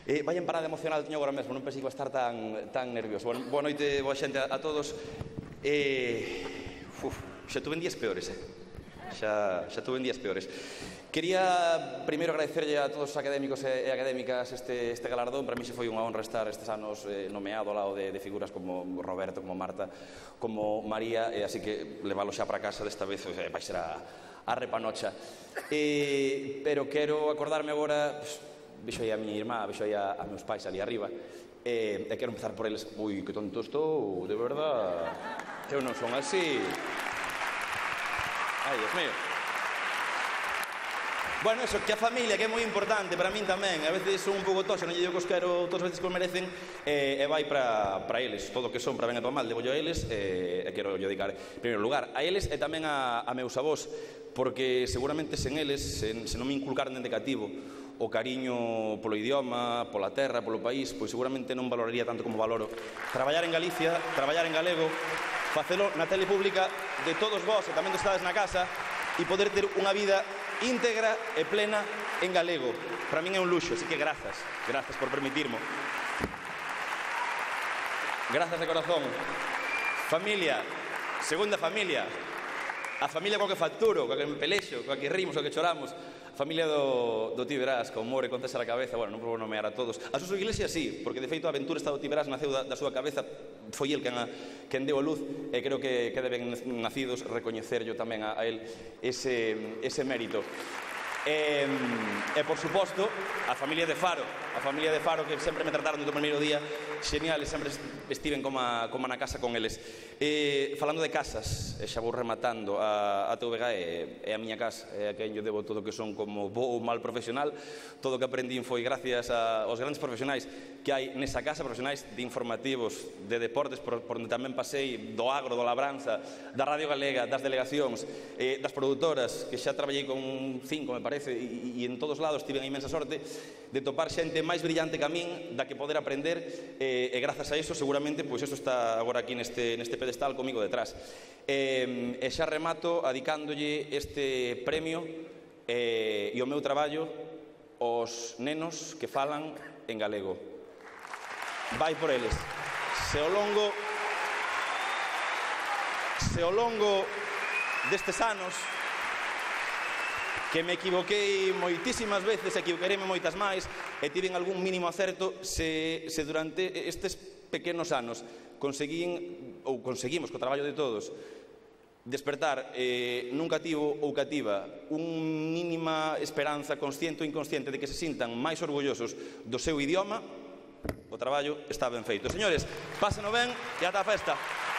Vaya parada emocional teño agora mesmo, non pensei que iba a estar tan nervioso. Boa noite, boa xente a todos. Xa tuve días peores, xa tuve días peores. Quería primeiro agradecerlle a todos os académicos e académicas este galardón. Para mí xe foi unha honra estar estes anos nomeado ao lado de figuras como Roberto, como Marta, como María, e así que levalo xa para casa desta vez vai ser a repanocha. Pero quero acordarme agora, vexo aí a miña irmá, vexo aí a meus pais ali arriba, e quero empezar por eles. Ui, que tonto estou, de verdad. Eu non son así. Ai, Dios mío. Bueno, eso, que a familia, que é moi importante para min tamén. A veces son un pouco toxa, non lle digo que os quero todas as veces que os merecen, e vai para eles. Todo o que son, para ben e para mal, debo yo a eles, e quero yo dedicar, en primeiro lugar, a eles e tamén a meus avós, porque seguramente sen eles, se non me inculcaran dende cativo o cariño polo idioma, pola terra, polo país, pois seguramente non valoraría tanto como valoro traballar en Galicia, traballar en galego, facelo na tele pública de todos vós e tamén dos estades na casa, e poder ter unha vida íntegra e plena en galego. Para min é un luxo, así que grazas por permitirmo. Grazas de corazón. Familia, segunda familia, a familia coa que facturo, coa que me pelexo, coa que rimos, coa que choramos, a familia do Tío Verás, con More, con César a cabeza. Bueno, non vou nomear a todos. A Suso Iglesias sí, porque de feito a aventura esta do Tío Verás naceu da súa cabeza, foi el quen deu a luz, e creo que deben nacidos recoñecerlo tamén a él ese mérito. E por suposto a familia de Faro, que sempre me trataron desde o primeiro día genial, e sempre estiven como na casa con eles. Falando de casas, xa vou rematando, a TVG é a miña casa, é a quen yo debo todo o que son como bo ou mal profesional. Todo o que aprendín foi gracias aos grandes profesionais que hai nesa casa, profesionais de informativos, de deportes, por onde tamén pasei, do agro, do labranza, da Radio Galega, das delegacións, das produtoras, que xa traballei con 5, me parece, e en todos lados tive a inmensa sorte de topar xente máis brillante que a min, da que poder aprender, e grazas a iso seguramente pois eso está agora aquí neste pedestal comigo detrás. E xa remato adicándolle este premio e o meu traballo aos nenos que falan en galego. Vai por eles. Se ao longo destes anos que me equivoquei moitísimas veces, equivoquereime moitas máis, e tiven algún mínimo acerto, se durante estes pequenos anos conseguimos co traballo de todos despertar nun cativo ou cativa unha mínima esperanza consciente ou inconsciente de que se sintan máis orgullosos do seu idioma, o traballo está ben feito. Señores, pásenlo ben e ata a festa.